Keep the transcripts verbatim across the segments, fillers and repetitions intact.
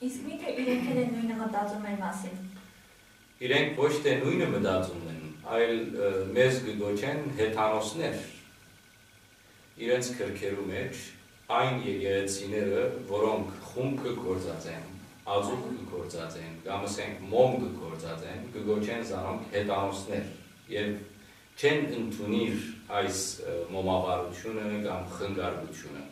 Իսկ միթէ իրենք էլ են նոյնը մտածում են մասին։ Իրենք ոչ թէ նոյնը մտածում են, այլ, ը, մեզ կը կոչեն հեթանոսներ։ Իրենց քրքերու մէջ այն եկեղեցիները, որոնք խունկը գործած են, ածուխ կը գործած են, կամ ասենք մոմ կը գործած են, կը կոչեն զանոնք հեթանոսներ եւ չեն ընդունիր այս, ը, մոմավարությունը կամ խնկարկությունը։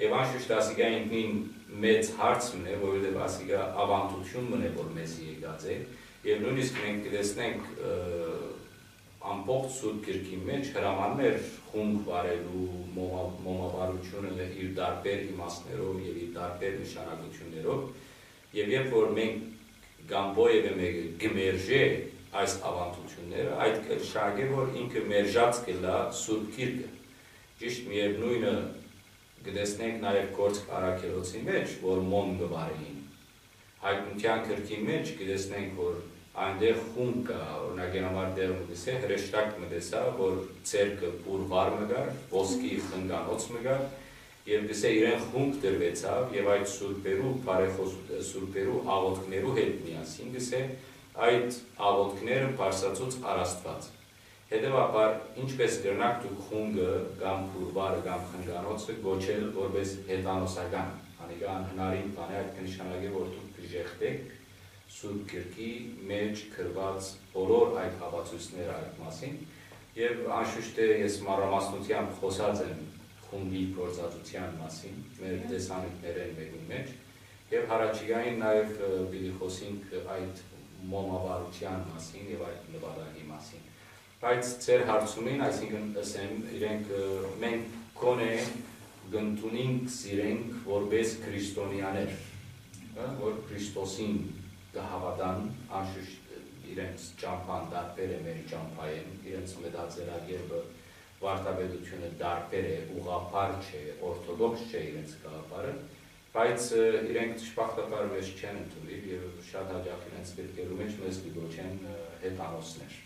Եւ անշուշտ ասիկա ինքնին մեծ հարց մն է, որովհետեւ ասիկա աւանդութիւն մն է, որ մեզի եկած է, եւ նոյնիսկ մենք կը տեսնենք, ը, ամբողջ Սուրբ Գրքին մէջ հրամաններ խունկ վարելու, մոմա-, մոմավարությունը իր տարբեր իմաստներով եւ իր տարբեր նշանակություններով, եւ երբ որ մենք կամ որեւէ մեկը կը մերժէ այս աւանդութիւնները, այդ կը նշանակէ, որ ինքը մերժած կ'ըլլայ Սուրբ Գիրքը։ Ճիշդ միեւնոյնը կը տեսնենք նաեւ Գործք Առաքելոցի մէջ, որ մոմ կը վարէին։ Հայտնութեան գրքին մէջ կը տեսնենք, որ այնտեղ խունկ կայ, օրինակի համար, տեղ մը կ'ըսէ, հրեշտակ մը տեսայ, որ ձեռքը փուռ վար մը կար, ոսկի խնկանոց մը կար, եւ կ'ըսէ, իրեն խունկ տրուեցաւ, եւ այդ սուրբերու, բարեխոս-, սուրբերու աղօթքներու հետ միասին, կ'ըսէ, այդ աղօթքները բարձրացուց առ Աստուած։ Հետեւաբար, ինչպէս կրնաք դուք խունկը կամ փուռ վարը կամ խնկանոցը կոչել որպէս հեթանոսական, անիկա անհնարին բան է, այդ կը նշանակէ, որ դուք կը ժեշտէք Սուրբ Գրքի մէջ գրուած բոլոր այդ հապացոյցները այդ մասին, եւ անշուշտ է ես մանրամասնութեամբ խօսած եմ խումբի գործածութեան մասին, մեր տեսանիքներէն մէկուն մէջ, եւ յառաջիկային նաեւ, ը, պիտի խօսինք այդ մոմավարութեան մասին եւ այդ նպատակի մասին։ Բայց ձեր հարցումին, այսինքն, ըսեմ, իրենք, ը, մենք գոնե կ'ընդունինք զիրենք որպէս քրիստոնեաներ, ը, որ Քրիստոսին կը հաւատան, անշուշտ իրենց ճամբան տարբեր է մեր ճամբայէն, իրենց մտածելակերպը, վարդապետությունը տարբեր է, ուղղափառ չէ, օրթոդոքս չէ իրենց գաղափարը, բայց, ը, իրենք դժբախտաբար մեզ չեն ընդունիր եւ շատ յաճախ իրենց գրքերու մէջ մեզ կը կոչեն, ը, հեթանոսներ։